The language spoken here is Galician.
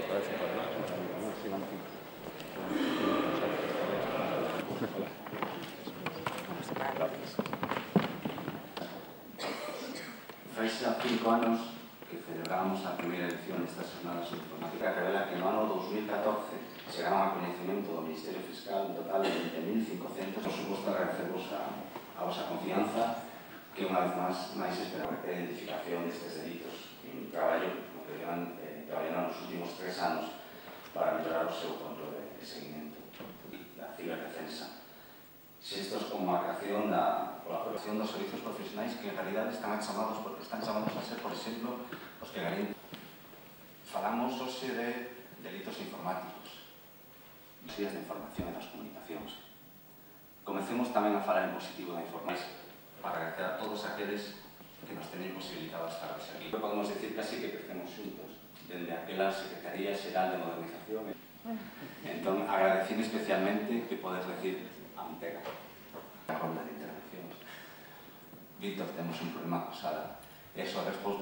Fai xa 5 anos que celebramos a primeira edición destas jornadas de informática que revela que no ano 2014 chegaron a coñecemento do Ministerio Fiscal un total de 20.500. Por suposto, agradecemos a vosa confianza que unha vez máis espera a identificación destes delitos. Un traballo que llevan traballando nos últimos 3 anos para mellorar o seu control de seguimento da ciberdefensa. Xestos como a creación da colaboración dos servizos profesionais que en realidad están chamados a ser, por exemplo, os que garanten. Falamos hoxe de delitos informáticos, vías de información e das comunicacións. Comecemos tamén a falar en positivo da informática para agradecer a todos aqueles que nos teñen posibilitado estar hoxe aquí. Podemos decir casi que crecemos xuntos, dende aquela Secretaría Xeral de Modernización. Entón, agradecín especialmente que podes decir a Mantega, a ronda de intervencións. Víctor, temos un problema coa sala. Eso a resposta